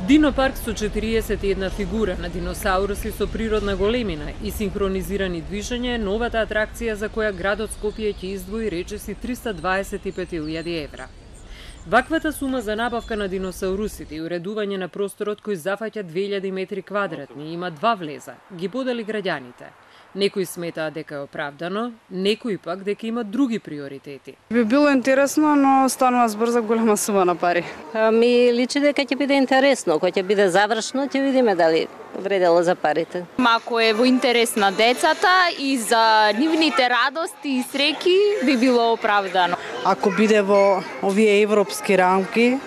Динопарк со 41 фигура на диносауруси со природна големина и синхронизирани движење е новата атракција за која градот Скопје ќе издвои речиси 325.000 евра. Ваквата сума за набавка на диносаурусите и уредување на просторот кој зафаќа 2000 метри квадратни има два влеза, ги подели граѓаните. Некои сметаат дека е оправдано, некои пак дека има други приоритети. Би било интересно, но станува збор за голема сума на пари. Ми личи дека ќе биде интересно, кога ќе биде завршно, ќе видиме дали вредело за парите. Ако е во интерес на децата и за нивните радости и среќи, би било оправдано. Ако биде во овие европски рамки,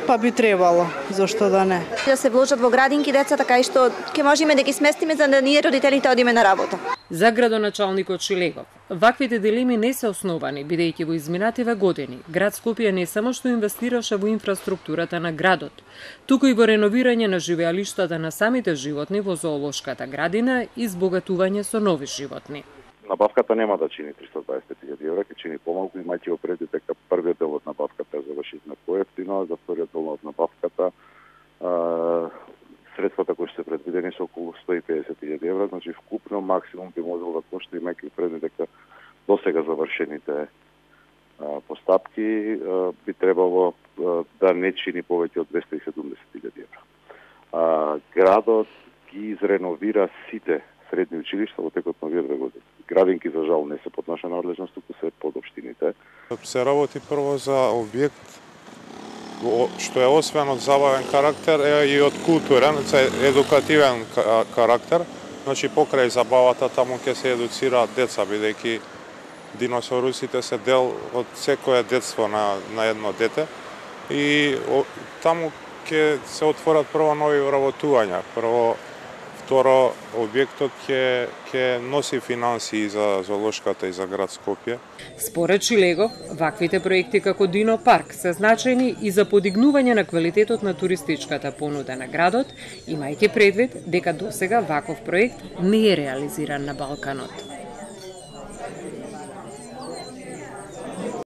па би требало, зошто да не. Да се вложат во градинки деца, така и што ќе можеме да ги сместиме за да ние родителите одиме на работа. За градоначалникот Шилегов, ваквите дилеми не се основани, бидејќи во изминативе години град Скопје не само што инвестираше во инфраструктурата на градот, туку и во реновирање на живеалиштата на самите животни во зоолошката градина и збогатување со нови животни. Набавката нема да чини 325.000 евра, ќе чини помалку, имајќи предвид дека првиот дел од набавката е завршивме поевтино, за вториот дел од набавката средствата кои се предвидени се околу 150.000 евра, значи вкупно максимум би можело да кошта, имајќи предвид дека досега завршените постапки би требало да не чини повеќе од 270.000 евра. Градот ги изреновира сите средни училишта во текот на овие 2 години. Градинки за жал не се под наша надлежност, туку се под општините. Се работи прво за објект што е освен од забавен карактер е и од културен, едукативен карактер. Значи покрај забавата таму ќе се едуцираат деца, бидејќи диносаурусите се дел од секое детство на едно дете и таму ќе се отворат прво нови вработувања. Второ, објектот ќе носи финансии за зоолошката и за град Скопје. Според Шилегов, ваквите проекти како Динопарк се значајни и за подигнување на квалитетот на туристичката понуда на градот, имајќи предвид дека досега ваков проект не е реализиран на Балканот.